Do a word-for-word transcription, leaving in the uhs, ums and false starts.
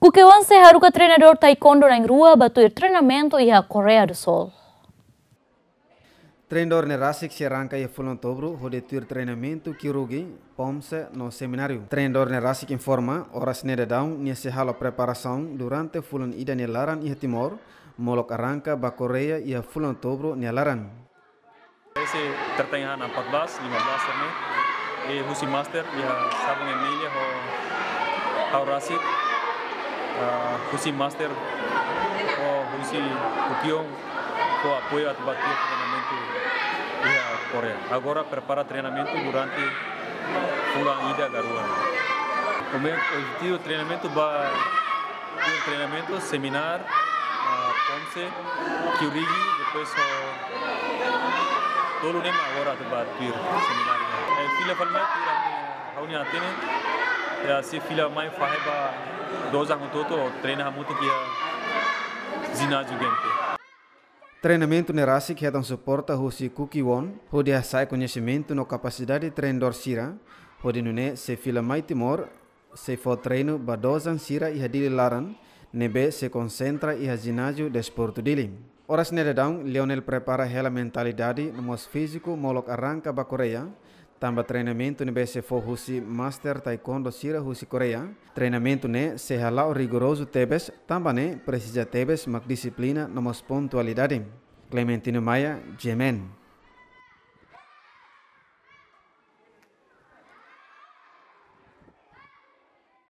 Kukioan sei haruka treinadór taekwondo na'in-rua ba tuir treinamentu iha Koreia do Sul. Treinadór ne'e rasik sei arranka iha fulan Outubru hodi tuir treinamentu kyorugi, pomse no semináriu. Treinadór ne'e rasik informa, oras ne'e daudaun nia sei halo preparasaun durante fulan ida nia laran iha Timor, molok arranka ba Koreia iha fulan Outubru nia laran. Ese tertanya han empat belas, lima belas ne'e. E husi master iha Sabang M L A ho ha'u rasik. Ah, husi master ho husi Kukioan ho apoiu atu ba tuir treinamentu iha Koreia. Agora prepara treinamentu durante fulan ida ka rua. Promé objetivu treinamentu ba tuir treinamentu, semináriu, ah, pomse, kyorugi, depois ho tolu ne'e mak agora atu ba tuir semináriu. Eh, fila fali mai tuir ami, ha'u-nia hatene, ya, sei fila mai fahe ba dozan hotu-hotu, treina hamutuk iha jináziu Gente. Treinamentu ne'e rasik hetan suporta husi Kukioan, hodi hasa'e koñesimentu no kapasidade treinadór sira, hodi nune'e sei fila mai Timor, sei fó treinu ba dozan sira iha Dili laran, ne'ebé sei konsentra iha jináziu Desportu Dili. Oras ne'e daudaun, Lionel prepara hela mentalidade no mós fíziku molok arranka ba Koreia, tanba treinamentu ne'ebé sei fó husi master taekwondo sira husi Koreia. Treinamentu ne'e sei hala'o rigorozu tebes, tanba ne'e presiza tebes mak dixiplina no mós pontualidade. Clementino Maia, G M N.